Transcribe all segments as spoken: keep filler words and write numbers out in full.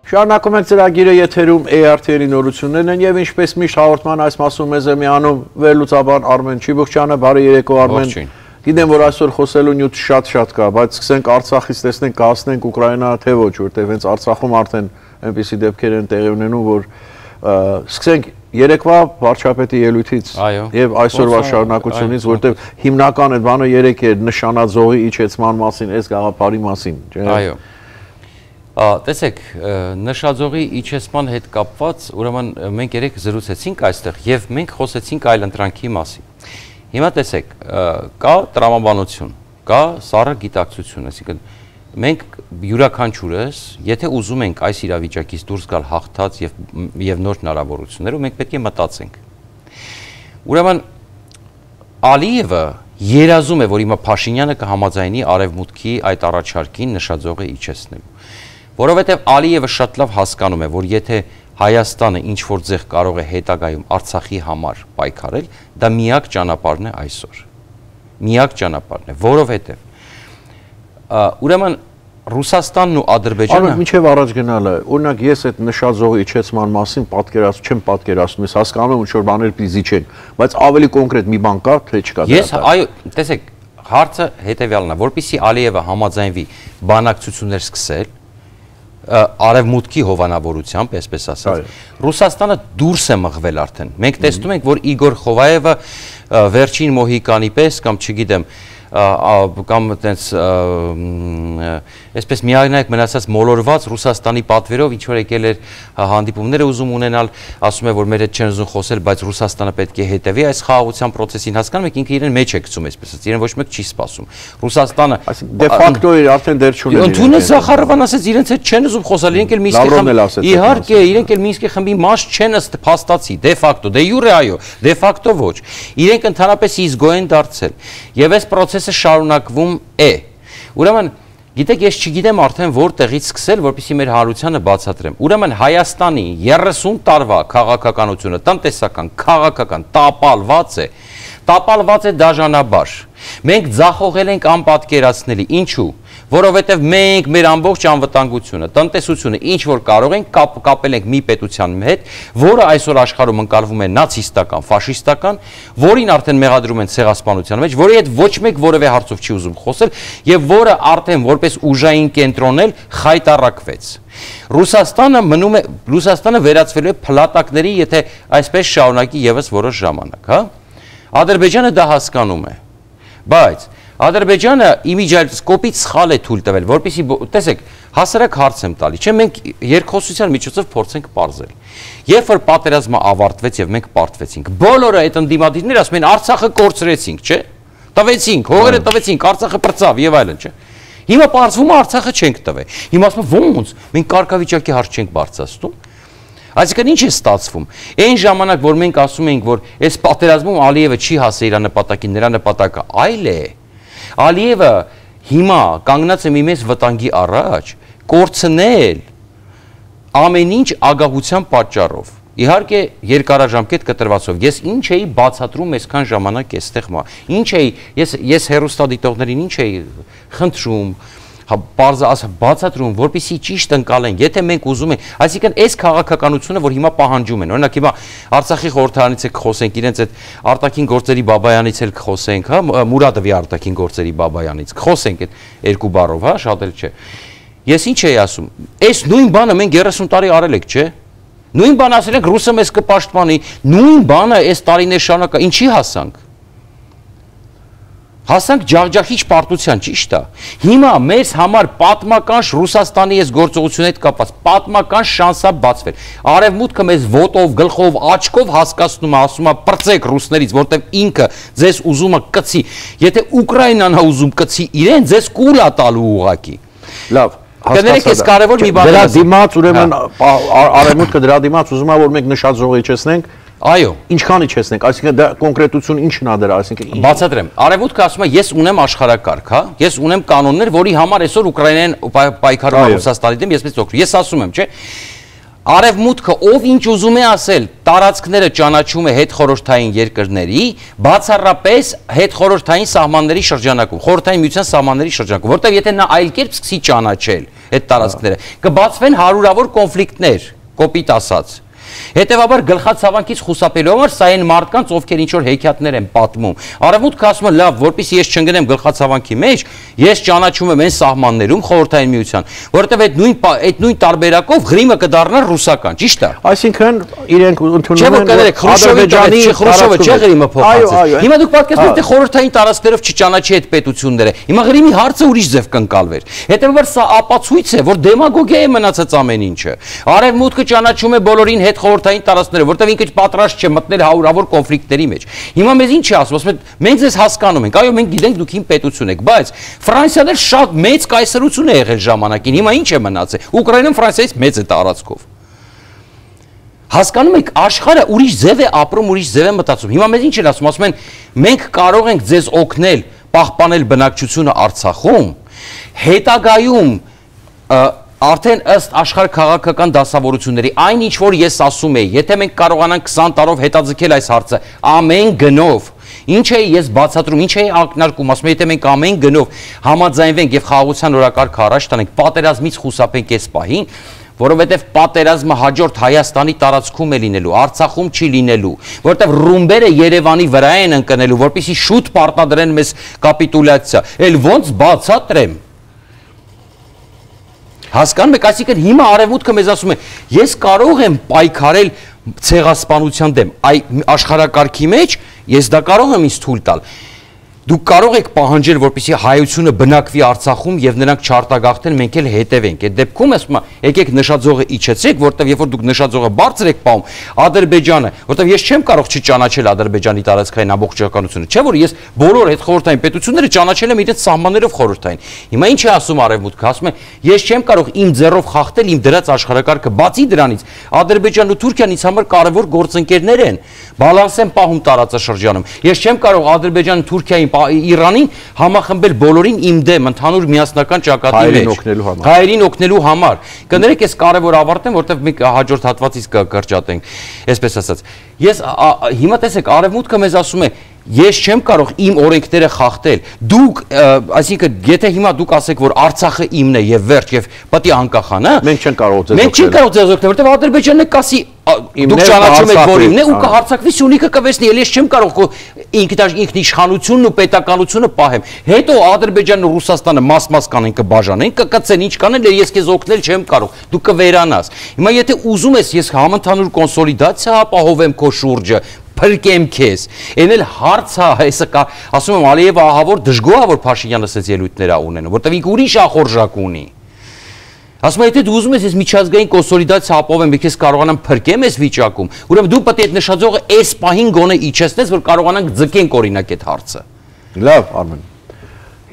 Շարունակում ենք ծրագիրը եթերում A R T-երի նորություններն են եւ ինչպես միշտ հաղորդման այս մասում մեզ է միանում վերլուծաբան Արմեն Չիբուխչյանը, բարի երեկո Արմեն։ Գիտեմ, որ այսօր խոսելու նյութ շատ-շատ կա, բայց սկսենք Արցախից, տեսնենք կհասնենք Ուկրաինա թե ոչ, որտեղ հենց Արցախում արդեն այնպիսի դեպքեր են տեղի ունենում, որ սկսենք երեկվա վարչապետի ելույթից եւ այսօրվա շարունակությունից, որտեղ հիմնական այդ բանը երեք էր նշանաձողի իջեցման մասին, այս գաղափարի մասին, չէ՞։ Այո։ Տեսեք, նշաձողի իջեցման հետ կապված, ուրեմն մենք երեք զրուցեցինք այստեղ եւ մենք խոսեցինք այլընտրանքի մասին։ Հիմա տեսեք, կա տրամաբանություն, կա սառը գիտակցություն, այսինքն մենք յուրաքանչյուրս, եթե ուզում ենք այս իրավիճակից դուրս գալ հաղթած եւ եւ նոր հնարավորություններով, մենք պետք է մտածենք։ Ուրեմն Ալիևը երազում է, որ հիմա Փաշինյանը կհամաձայնի արևմուտքի այդ առաջարկին նշաձողը իջեցնելու։ Որովհետև Ալիևը շատ լավ հասկանում է, որ եթե Հայաստանը ինչ-որ ձեղ կարող է հետագայում Արցախի համար պայքարել, դա միակ ճանապարհն է այսօր։ Միակ ճանապարհն է, որովհետև ուրեմն Ռուսաստանն ու Ադրբեջանը Արմեն, մինչև առաջ գնալը, օրինակ ես այդ նշաձողի իջեցման մասին պատկերացնում չեմ պատկերացնում, ես հասկանում եմ ինչ որ բաներ պիտի զիջեն, բայց ավելի կոնկրետ մի բան կա, թե չկա։ Ես այո, տեսեք, հարցը հետևյալն է, որպեսզի Ալիևը համաձայնվի բանակցություններ սկսել արևմուտքի հովանավորությամբ, այսպես ասած, Ռուսաստանը դուրս է մղվել արդեն։ Մենք տեսնում ենք, որ Իգոր Խովայևը վերջին Մոհիկանի պես կամ չգիտեմ կամ այտենց այսպես միայնակ մնացած մոլորված Ռուսաստանի պատվերով ինչ որ եկել էր հանդիպումները ուզում ունենալ, ասում է որ մեր հետ չեն ուզում խոսել, բայց Ռուսաստանը պետք է հետևի այս խաղաղության process-ին, հասկանում եք, ինքը իրեն մեջ է գցում, այսպես ասած, իրեն ոչ մեկ չի սպասում։ Ռուսաստանը դե ֆակտո իր արդեն դեր չունի։ Ընդունեց Զախարովան ասեց իրենց հետ չեն ուզում խոսալ, իրենք էլ Մինսկի խմբի իհարկե, իրենք էլ Մինսկի խմբի մաս չեն ըստ փաստացի, դե ֆակտո, դե յուրե այո, դե ֆակտո ոչ։ Իրենք ընդհանրապես իզգո են դարձել։ Եվ այս process-ը շարունակվում է։ Ուրեմն գիտեք, ես չգիտեմ արդեն որտեղից սկսել, որպեսզի մեր հանրությանը բացատրեմ։ Ուրեմն Հայաստանի երեսուն տարվա քաղաքականությունը, տնտեսական, քաղաքական տապալված է, տապալված է դաժանաբար։ Մենք ձախողել ենք անպատկերացնելի։ Ինչու՞։ Որովհետև մենք մեր ամբողջ անվտանգությունը, տնտեսությունը ինչ որ կարող ենք կապ, կապել ենք մի պետության հետ, որը այսօր աշխարհում ընկալվում է նացիստական, ֆաշիստական, որին արդեն մեղադրում են ցեղասպանության մեջ, որի հետ ոչ մեկ որևէ հարցով չի ուզում խոսել եւ որը արդեն որպես ուժային կենտրոնել խայտարակվեց։ Ռուսաստանը մնում է, Ռուսաստանը վերածվելու է փլատակների, եթե այսպես շարունակի եւս որոշ ժամանակ, հա։ Ադրբեջանը դա հասկանում է, բայց Ադրբեջանը իմիջիայլսկոպից սխալ է թույլ տվել, որպեսզի տեսեք, հասարակ հարց եմ տալի, չէ՞ մենք երկխոսության միջոցով փորձենք պարզել։ Երբ որ պատերազմը ավարտվեց եւ մենք պարտվեցինք, բոլորը այդ ընդդիմադիրները ասում են Արցախը կորցրեցինք, չէ՞։ Տվեցինք, հողերը տվեցինք, Արցախը պրծավ եւ այլն, չէ՞։ Հիմա պարզվում է Արցախը չենք տվել։ Հիմա ասում են ո՞նց, մենք կարգավիճակի հարց չենք բարձրացնում։ Այսինքն ինչ է ստացվում։ Այն ժամանակ, որ մենք ասում ենք, որ այս պատերազմում Ալիևը չի հասել իր նպատակին, նրա նպատակը այլ է։ Ալիևը հիմա կանգնած է մի մեծ վտանգի առաջ, կորցնել ամեն ինչ ագահության պատճառով։ Իհարկե երկարաժամկետ կտրվածով։ Ես ինչ էի բացատրում այսքան ժամանակ այստեղ մա։ Ինչ էի, ես ես հերոստադիտողներին ինչ էի խնդրում, բացատրում, որպեսզի ճիշտ ընկալեն, եթե մենք ուզում ենք, այսինքն այս քաղաքականությունը, որ հիմա պահանջում են, օրինակ հիմա Արցախի խորհրդարանից էլ կխոսենք, իրենց այդ արտաքին գործերի Բաբայանից էլ կխոսենք, հա, Մուրադովի արտաքին գործերի Բաբայանից, կխոսենք այդ երկու բառով, հա, շատ էլ չէ։ Ես ինչ էի ասում, այս նույն բանը մենք երեսուն տարի արել ենք, չէ՞։ Նույն բանը ասել ենք ռուսը մեզ կպաշտպանի, նույն բանը այս տարիներ շարունակ, ինչի հասանք։ Հասանք ջախջախիչ պարտության, ճիշտ է։ Հիմա մեզ համար պատմական Ռուսաստանի այս գործողությունների հետ կապված պատմական շանսա բացվել։ Արևմուտքը մեզ ոտով, գլխով, աչքով հասկացնում է, ասում է պրծեք ռուսներից, որտեղ ինքը ձեզ ուզում է կծի։ Եթե Ուկրաինան է ուզում կծի իրեն, ձեզ կուլ է տալու ուղակի։ Լավ, Կներեք, այս կարևոր մի բան է։ Դրա դիմաց ուրեմն արևմուտքը դրա դիմաց ուզում է որ մենք նշաձողը իջեցնենք։ Այո, ինչքան իջեցնենք, այսինքն դա կոնկրետություն ինչն է դրա, այսինքն բացատրեմ։ Արևմուտքը ասում է, ես ունեմ աշխարհակարգ, հա, ես ունեմ կանոններ, որի համար այսօր Ուկրաինան պայքարում է Ռուսաստանի դեմ, ես մեծ օգնում։ Ես ասում եմ, չէ՞։ Արևմուտքը ով ինչ ուզում է ասել, տարածքները ճանաչում է հետխորհրդային երկրների, բացառապես հետխորհրդային սահմանների շրջանակում, խորհրդային միության սահմանների շրջանակում, որտեղ եթե նա այլ կերպ սկսի ճանաչել այդ տարածքները, կբացվեն հարյուրավոր կոնֆլիկտներ, կոպիտ ասած։ Հետևաբար գլխացավանքից խուսափելու համար սա այն մարդկանց, ովքեր ինչ որ հեքիաթներ են պատմում։ Արևմուտքը ասում է, լավ, որպեսզի ես չընկնեմ գլխացավանքի մեջ, ես ճանաչում եմ այն սահմաններում Խորհրդային Միության, որովհետև այդ նույն այդ նույն տարբերակով Ղրիմը կդառնա ռուսական, ճիշտ է։ Այսինքն իրենք ընդունում են Ադրբեջանի Խրուշչովը չէ Ղրիմը փոխանցել։ Հիմա դուք պատկերացնում եք, թե խորհրդային տարածքներով չճանաչի այդ պետությունները։ Հիմա Ղրիմի հարցը ուրիշ ձև կընկալվեր։ Հետևաբար սա ապացույց է, որ դեմագոգիա է մնացած ամեն ինչը։ Արևմուտքը ճանաչում է բոլորին հետ խորհրդային տարածքները, որտեղ ինքը պատրաստ չէ մտնել հարյուրավոր կոնֆլիկտների մեջ։ Հիմա մեզ ինչ է ասում, ասում են, մենք ձեզ հասկանում ենք, այո, մենք գիտենք դուք իմ պետություն եք, բայց Ֆրանսիան էլ շատ մեծ կայսրություն է եղել ժամանակին, հիմա ինչ է մնացել։ Ուկրաինան Ֆրանսիայից մեծ է տարածքով։ Հասկանում եք, աշխարհը ուրիշ ձև է ապրում, ուրիշ ձև է մտածում։ Հիմա մեզ ինչ են ասում, ասում են, մենք կարող ենք ձեզ օգնել պահպանել բնակչությունը Արցախում, հետագայում արդեն ըստ աշխարհ քաղաքական դասավորությունների, այն ինչ որ ես ասում եի, եթե մենք կարողանանք քսան տարով հետաձգել այս հարցը, ամեն գնով, ինչ է ես բացատրում, ինչ է ակնարկում, ասում եմ, եթե մենք ամեն գնով համաձայնվենք եւ խաղաղության օրակարգը առաջ տանենք, պատերազմից խուսափենք այս պահին, որովհետև պատերազմը հաջորդ Հայաստանի տարածքում է լինելու, Արցախում չի լինելու, որովհետև ռումբերը Երևանի վրա են ընկնելու, որպեսզի շուտ պարտադրեն մեզ կապիտուլյացիա, էլ ոնց բացատրեմ։ Հասկանում եք, այսինքն հիմա արևմուտքը մեզ ասում է, ես կարող եմ պայքարել ցեղասպանության դեմ, այ աշխարհակարգի մեջ ես դա կարող եմ ինձ թույլ տալ։ Դուք կարող եք պահանջել, որպեսզի հայությունը բնակվի Արցախում եւ նրանք չարտագաղթեն, մենք էլ հետևենք։ Այդ դեպքում ասում եմ, եկեք նշաձողը իջեցեք, որտեվ երբ որ դուք նշաձողը բարձր եք պահում, Ադրբեջանը, որտեվ ես չեմ կարող չճանաչել Ադրբեջանի տարածքային ամբողջականությունը, չէ՞ որ ես բոլոր այդ խորհրդային պետությունները ճանաչել եմ իրենց սահմաններով խորհրդային։ Հիմա ինչ է ասում արևմուտքը, ասում է, ես չեմ կարող իմ ձեռով խախտել իմ դրած աշխարհակարգը, բացի դրանից Ադրբեջանն ու Թուրքիան ինձ համար կարևոր գործընկերներ են, բալանս են պահում տարածաշրջանում։ Ես չեմ կարող Ադրբեջանը Թուրքիային Իրանին համախմբել բոլորին իմ դեմ ընդհանուր միասնական ճակատի մեջ հայերին օգնելու համար։ Կներեք, ես կարևոր ավարտեմ, որտեղ մենք հաջորդ հատվածից կկրճատենք, այսպես ասած։ Ես հիմա տեսեք, արևմուտքը մեզ ասում է, ես չեմ կարող իմ օրենքները խախտել։ Դուք, այսինքն, եթե հիմա դուք ասեք, որ Արցախը իմն է եւ վերջ եւ պետք է անկախանա, մենք չենք կարող ձեզ օգնել։ Մենք չենք կարող ձեզ օգնել, որտեղ Ադրբեջանն կասի, դուք ճանաչում եք, որ իմն է ու կհարցակվի Սյունիքը կվեսնի, ել ես չեմ կարող ինքնիշխանությունն ու պետականությունը պահեմ։ Հետո Ադրբեջանն ու Ռուսաստանը մաս-մաս կանեն կբաժանեն, կկծեն, ինչ կանեն, ես քեզ օգնել չեմ կարող, դու կվերանաս։ Հիմա եթե ուզում ես ես համընդհանուր կոնսոլիդացիա ապահովեմ քո շուրջը, փրկեմ քեզ։ Էն էլ հարցա, հեսա կա, ասում եմ Ալիևը ահավոր դժգոհ է, որ Փաշինյանը ասեց ելույթներ ունենում, որտեղ ինքը ուրիշ ախորժակ ունի։ Ասում եմ, եթե դու ուզում ես ես միջազգային կոնսոլիդացիա ապահովեմ, ես կարողանամ փրկեմ այս վիճակում, ուրեմն դու պետք է այդ նշաձողը այս պահին գոնե իջեցնես, որ կարողանանք ձգենք օրինակ այդ հարցը։ Լավ, Արմեն։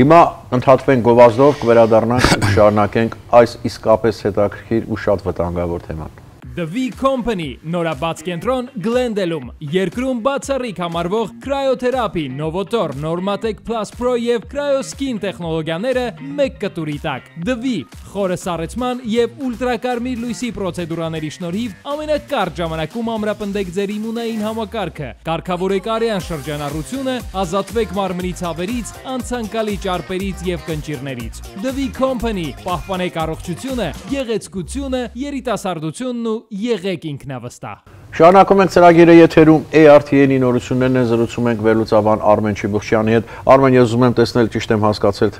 Հիմա ընդհատվենք գովազդով, կվերադառնանք ու շարունակենք այս իսկապես հետաքրքիր ու շատ վտանգավոր թեման։ The V Company նորաբաց կենտրոն Գլենդելում, երկրում բացառիկ համարվող կրայոթերապի, Novotor, Normatec Plus Pro և Cryoskin տեխնոլոգիաները մեկ կտուրի տակ։ The V խորը սառեցման և ուլտրակարմիր լույսի պրոցեդուրաների շնորհիվ ամենակարճ ժամանակում ամրապնդեք ձեր իմունային համակարգը, կարգավորեք արյան շրջանառությունը, ազատվեք մարմնի ցավերից, անցանկալի ճարպերից և կնճիռներից։ The V Company պահպանեք առողջությունը, գեղեցկությունը, երիտասարդությունն ու եղեք ինքնավստահ։ Շարունակում ենք ծրագիրը եթերում A R T-ի նորություններն են, զրուցում ենք վերլուծաբան Արմեն Չիբուխչյանի հետ։ Արմեն, ես ուզում եմ տեսնել, ճիշտ եմ հասկացել,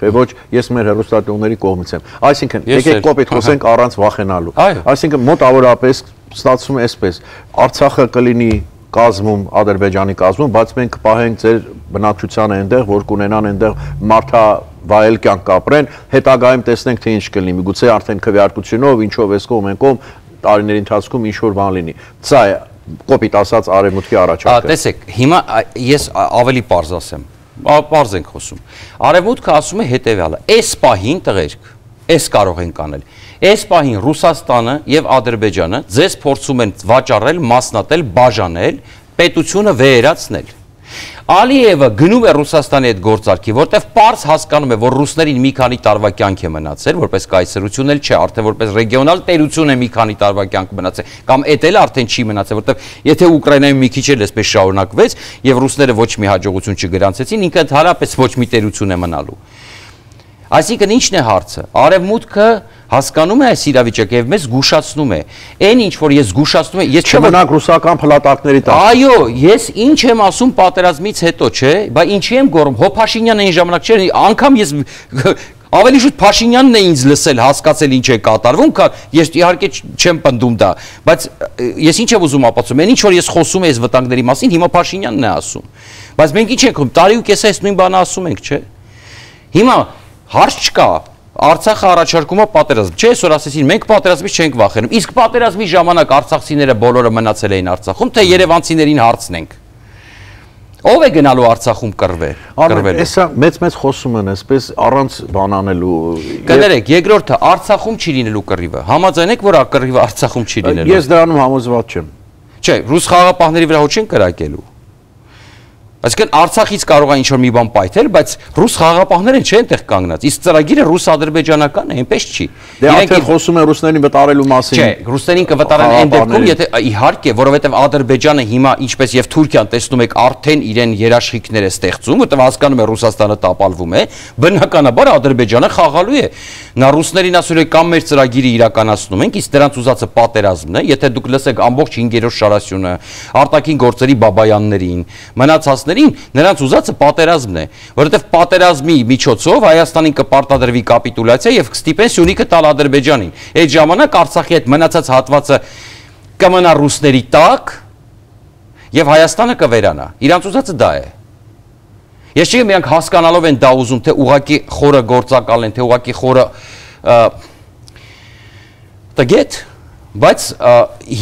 թե ոչ, ես մեր հեռուստատեղների կողմից եմ։ Այսինքն, եկեք կոպիտ խոսենք առանց վախենալու։ Այսինքն, մոտավորապես ստացվում է այսպես. Արցախը կլինի կազմում, Ադրբեջանի կազմում, բայց մենք կպահենք ձեր բնակչությանը այնտեղ, որ կունենան այնտեղ մարդավայել կյանք կապրեն, հետագայում տեսնենք, թե ինչ կլինի։ Միգուցե արդեն քվեարկությունով, ինչով էս կողմ են կողմ տարիների ընթացքում ինչ որ բան լինի։ Սա է կոպիտ ասած արևմուտքի առաջարկը։ Տեսեք, հիմա ես ավելի պարզ ասեմ։ Պարզ ենք խոսում։ Արևմուտքը ասում է հետևյալը. այս պահին տղերք, այս կարող ենք անել։ Այս պահին Ռուսաստանը եւ Ադրբեջանը ձեզ փորձում են վաճառել, մասնատել, բաժանել, պետությունը վերացնել։ Ալիևը գնում է Ռուսաստանի այդ գործարքի, որտեղ պարզ հասկանում է, որ ռուսներին մի քանի տարվա կյանք է մնացել, որպես կայսրություն էլ չէ, արդեն որպես ռեգիոնալ տերություն է մի քանի տարվա կյանք մնացել, կամ էդ էլ արդեն չի մնացել, որտեղ եթե Ուկրաինայում մի քիչ էլ էսպես շարունակվեց եւ ռուսները ոչ մի հաջողություն չգրանցեցին, ինքը ընդհանրապես ոչ մի տերություն է մնալու։ Այսինքն ինչն է հարցը։ Արևմուտքը հասկանում է այս իրավիճակը եւ մեզ զգուշացնում է։ Այն ինչ որ ես զգուշացնում եմ, ես չմնանք ռուսական փլատակների տակ։ Այո, ես ինչ եմ ասում պատերազմից հետո, չէ՞, բայց ինչի եմ գոռում։ Հո Փաշինյանն այն ժամանակ չէ, անգամ ես ավելի շուտ Փաշինյանն է ինձ լսել, հասկացել ինչ է կատարվում, քան ես իհարկե չեմ պնդում դա, բայց ես ինչ եմ ուզում ապացուցեմ, այն ինչ որ ես խոսում եմ այս վտանգների մասին, հիմա Փաշինյանն է ասում։ Բայց մենք ինչ ենք, տարի ու կես այս նույն բանը ասում ենք, չէ՞։ Հիմա հարց չկա, Արցախը առաջարկում է պատերազմ, չէ՞, այսօր ասեցին, մենք պատերազմից չենք վախենում, իսկ պատերազմի ժամանակ արցախցիները բոլորը մնացել էին Արցախում, թե երևանցիներին հարցնենք։ Ով է գնալու Արցախում կռվել։ Կռվել։ Էսա մեծ-մեծ խոսում են, այսպես առանց բան անելու։ Կներեք, երկրորդը Արցախում չի լինելու կռիվը։ Համաձայն եք, որ կռիվը Արցախում չի լինելու։ Ես դրանում համոզված չեմ։ Չէ, ռուս խաղաղապահների վրա հո չեն կրակելու։ Այսինքն Արցախից կարող է ինչ-որ մի բան պայթել, բայց ռուս խաղաղապահները չեն տեղ կանգնած։ Իսկ ծրագիրը ռուս-ադրբեջանական է, այնպես չի։ Դե արդեն խոսում են ռուսներին վտարելու մասին։ Չէ, ռուսներին կվտարեն այն դեպքում, եթե իհարկե, որովհետև Ադրբեջանը հիմա, ինչպես եւ Թուրքիան, տեսնում եք, արդեն իրեն երաշխիքներ է ստեղծում, որտեղ հասկանում է Ռուսաստանը տապալվում է, բնականաբար Ադրբեջանը խաղալու է։ Նա ռուսներին ասում է կամ մեր ծրագիրը իրականացնում ենք, իսկ դրանց ուզածը պատերազմն է, եթե դուք լսեք ամբողջ հինգերորդ շարասյունը, արտաքին գործերի Բաբայաններին, մնացածներին, նրանց ուզածը պատերազմն է, որովհետև պատերազմի միջոցով Հայաստանին կպարտադրվի կապիտուլյացիա եւ կստիպեն Սյունիքը տալ Ադրբեջանին։ Այդ ժամանակ Արցախի այդ մնացած հատվածը կմնա ռուսների տակ եւ Հայաստանը կվերանա։ Իրանց ուզածը դա է։ Ես չգիտեմ իրանք հասկանալով են դա ուզում, թե ուղակի խորը գործակալ են, թե ուղակի խորը տգետ, բայց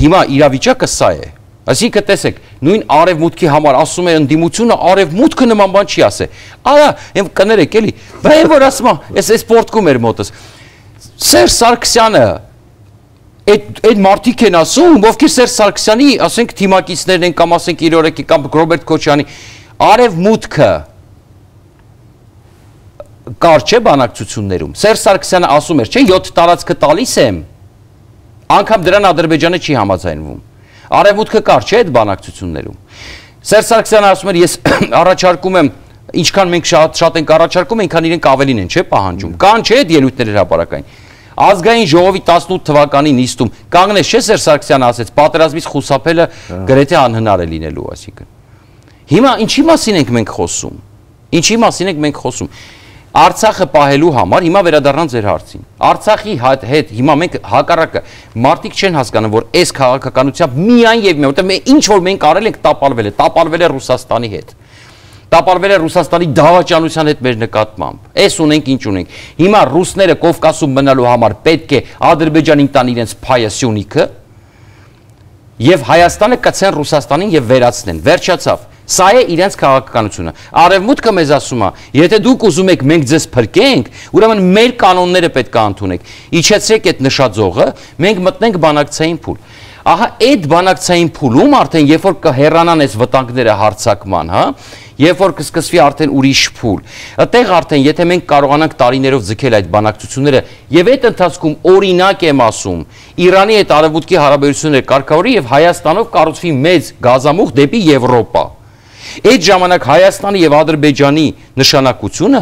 հիմա իրավիճակը սա է։ Այսինքն տեսեք, նույն արևմուտքի համար ասում է ընդդիմությունը, արևմուտքը նման բան չի ասե։ Արա, եմ կներեք էլի, բա եմ որ ասում, ես այս պորտկում էր մոտս։ Սերժ Սարգսյանը այդ մարդիկ են ասում, ովքեր Սերժ Սարգսյանի, ասենք թիմակիցներն են կամ ասենք իր օրեկի կամ Ռոբերտ Քոչյանի, արևմուտքը կար չէ բանակցություններում։ Սերժ Սարգսյանը ասում էր, չէ, յոթ տարածքը տալիս եմ, անգամ դրան Ադրբեջանը չի համաձայնվում։ Արևմուտքը կար չէ այդ բանակցություններում։ Սերժ Սարգսյանը ասում էր, ես առաջարկում եմ, ինչքան մենք շատ շատ ենք առաջարկում, այնքան իրենք ավելին են, չէ, պահանջում։ Կան չէ այդ ելույթները հրապարակային։ Ազգային ժողովի տասնութ թվականի նիստում կանգնեց չէ Սերժ Սարգսյանը ասեց, պատերազմից խուսափելը գրեթե անհնար է լինելու, այսինքն։ Հիմա ինչի մասին ենք մենք խոսում։ Ինչի մասին ենք մենք խոսում։ Արցախը պահելու համար հիմա վերադառնան ձեր հարցին։ Արցախի հետ հիմա մենք հակառակը մարդիկ չեն հասկանում, որ այս քաղաքականությամբ միայն եւ միայն, որտեղ ինչ որ մենք արել ենք տապալվել է, տապալվել է Ռուսաստանի հետ։ Տապալվել է Ռուսաստանի դավաճանության հետ մեր նկատմամբ։ Էս ունենք, ինչ ունենք։ Հիմա ռուսները Կովկասում մնալու համար պետք է Ադրբեջանին տան իրենց փայը Սյունիքը եւ Հայաստանը կցեն Ռուսաստանին եւ վերացնեն։ Վերջացավ։ Սա է իրենց քաղաքականությունը։ Արևմուտքը մեզ ասում է, եթե դուք ուզում եք մենք ձեզ փրկենք, ուրեմն մեր կանոնները պետք է ընդունեք։ Իջեցրեք այդ նշաձողը, մենք մտնենք բանակցային փուլ։ Ահա այդ բանակցային փուլում արդեն երբ որ կհեռանան այս վտանգները հարձակման, հա, երբ որ կսկսվի արդեն ուրիշ փուլ, այդտեղ արդեն եթե մենք կարողանանք տարիներով ձգել այդ բանակցությունները եւ այդ ընթացքում օրինակ եմ ասում, Իրանի հետ արևմուտքի հարաբերությունները կարգավորի եւ Հայաստանով կառուցվի մեծ գազամուղ դեպի Եվրոպա։ Այդ ժամանակ Հայաստանի եւ Ադրբեջանի նշանակությունը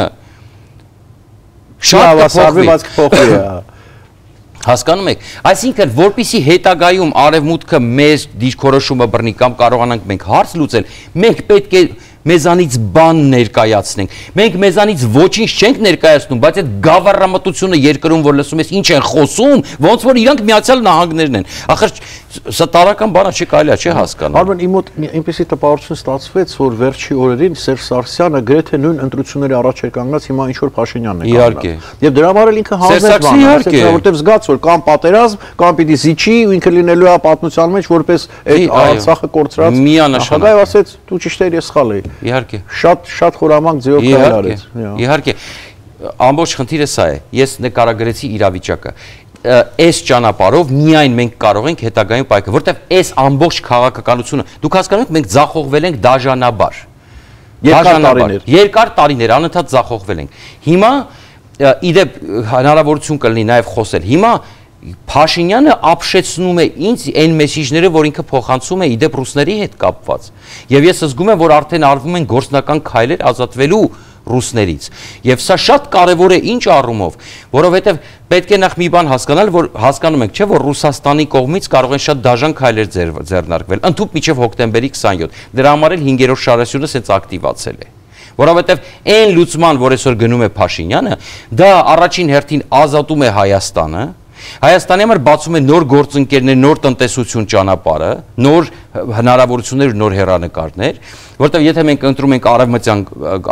շատ կփոխվի։ Հասկանում եք, այսինքն որպիսի հետագայում արևմուտքը մեր դիրքորոշումը բռնի կամ կարողանանք մենք հարց լուծել, մենք պետք է մեզանից բան ներկայացնենք։ Մենք մեզանից ոչինչ չենք ներկայացնում, բայց այդ գավառամտությունը երկրում որ լսում ես ինչ են խոսում, ոնց որ իրանք Միացյալ Նահանգներն են։ Ախր սա տարական բան է, չի կարելի է, չի հասկանալ։ Արմեն, իմ մոտ այնպեսի տպավորություն ստացվեց, որ վերջի օրերին Սերժ Սարգսյանը գրեթե նույն ընտրությունների առաջ էր կանգնած, հիմա ինչ որ Փաշինյանն է կանգնած։ Եվ դրա համար էլ ինքը հանձնեց բան, որովհետև զգաց որ կամ պատերազմ, կամ պիտի զիջի, ու ինքը լինելու է պատմության մեջ որպես այդ Արցախը կորցրած։ Նախագահը ասեց, դու ճիշտ ես, ես սխալ էի։ Իհարկե։ Շատ շատ խորամանկ ձևով քայլ արեց։ Իհարկե։ Ամբողջ խնդիրը սա է։ Ես նկարագրեցի իրավիճակը։ Այս ճանապարհով միայն մենք կարող ենք հետագայում պայքարել, որտեղ այս ամբողջ քաղաքականությունը, դուք հասկանում եք, մենք ձախողվել ենք դաժանաբար։ Երկար տարիներ։ Երկար տարիներ անընդհատ ձախողվել ենք։ Հիմա իդեպ հնարավորություն կլինի նաև խոսել։ Հիմա Փաշինյանը ապշեցնում է ինձ այն մեսիջները, որ ինքը փոխանցում է իդեպ ռուսների հետ կապված։ Եվ ես զգում եմ, որ արդեն արվում են գործնական քայլեր ազատվելու ռուսներից։ Եվ սա շատ կարևոր է ինչ առումով, որովհետև պետք է նախ մի բան հասկանալ, որ հասկանում ենք, չէ, որ Ռուսաստանի կողմից կարող են շատ դաժան քայլեր ձեռնարկվել, ընդհուպ մինչև հոկտեմբերի քսաներորդ։ Դրա համար էլ հինգերորդ շարասյունը սենց ակտիվացել է։ Որովհետև այն լուծման, որ այսօր գնում է Փաշինյանը, դա առաջին հերթին ազատում է Հայաստանը, Հայաստանի համար բացում է նոր գործընկերներ, նոր տնտեսություն ճանապարհը, նոր հնարավորություններ, նոր հեռանկարներ, որտեղ եթե մենք ընտրում ենք արևմտյան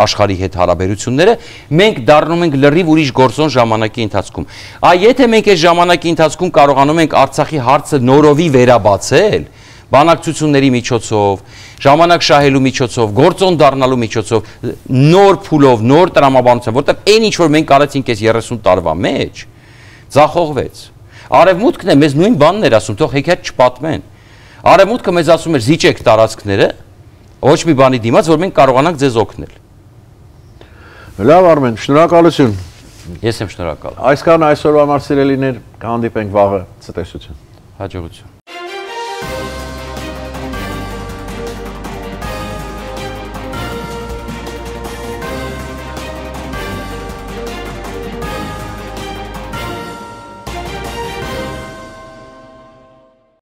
աշխարհի հետ հարաբերությունները, մենք դառնում ենք լրիվ ուրիշ գործոն ժամանակի ընթացքում։ Այ եթե մենք այս ժամանակի ընթացքում կարողանում ենք Արցախի հարցը նորովի վերաբացել, բանակցությունների միջոցով, ժամանակ շահելու միջոցով, գործոն դառնալու միջոցով, նոր փուլով, նոր տրամաբանությամբ, որտեղ այն ինչ որ մենք արեցինք այս երեսուն տարվա մեջ, ձախողվեց։ Արևմուտքն է մեզ նույն բանն էր ասում, թող հեքիաթ չպատմեն։ Արևմուտքը մեզ ասում էր զիջեք տարածքները, ոչ մի բանի դիմաց, որ մենք կարողանանք ձեզ օգնել։ Լավ Արմեն, շնորհակալություն։ Ես եմ շնորհակալ։ Այսքան այսօրվա համար սիրելիներ, կհանդիպենք վաղը, ցտեսություն։ Հաջողություն։